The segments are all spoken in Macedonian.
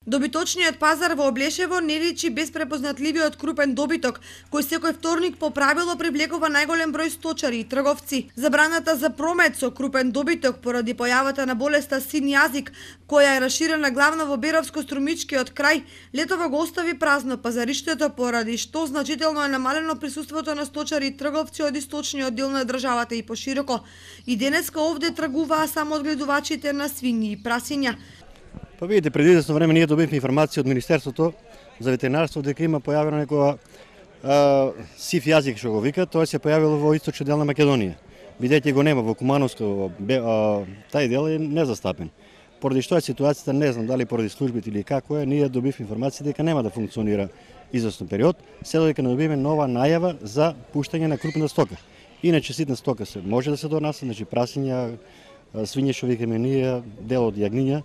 Добиточниот пазар во Облешево не личи без препознатливиот крупен добиток, кој секој вторник по правило привлекува најголем број сточари и трговци. Забраната за промет со крупен добиток поради појавата на болеста син јазик, која е раширена главно во Беровско-Струмичкиот крај, летово го остави празно пазариштето, поради што значително е намалено присуството на сточари и трговци од источниот дел на државата и пошироко. И денеска овде тргуваа само одгледувачите на свињи и прасиња. Па видите, преди известно време ние добивме информација од Министерството за ветеринарство дека има појавено некоја сив јазик што го вика, тоа се појавило во источен дел на Македонија. Бидејќи го нема во Кумановско, тај дел е незастапен. Поради што е ситуацијата, не знам дали поради службите или како е, ние добивме информација дека нема да функционира известен период, се додека не добиеме нова најава за пуштање на крупна стока. Иначе ситна стока се може да се донесе, значи прасиња, свиње што викаме ние, дел од јагниња.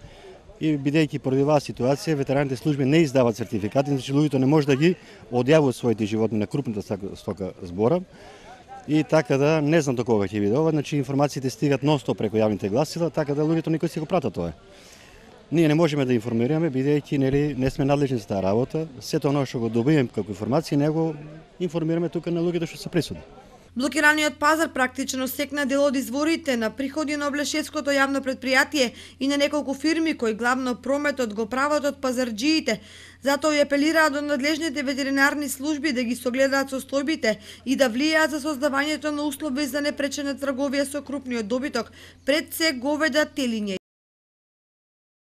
И бидејќи поради оваа ситуација ветеринарните служби не издаваат сертификати, значи луѓето не може да ги одјавуваат своите животни на крупната стока збора. И така да не знам до кога ќе биде ова, значи информациите стигат нон-стоп преку јавните гласила, така да луѓето никој си го прата тоа. Ние не можеме да информираме бидејќи не сме надлежни за таа работа. Сето оно што го добиваме како информација не го информираме тука на луѓето што се присутни. Блокираниот пазар практично секна дел од изворите на приходи на Облешевското јавно претпријатие и на неколку фирми кои главно прометот го прават од пазарџиите. Затоа и апелираа до надлежните ветеринарни служби да ги согледаат состојбите и да влијаат за создавањето на услови за непречена трговија со крупниот добиток, пред се говеда, телиња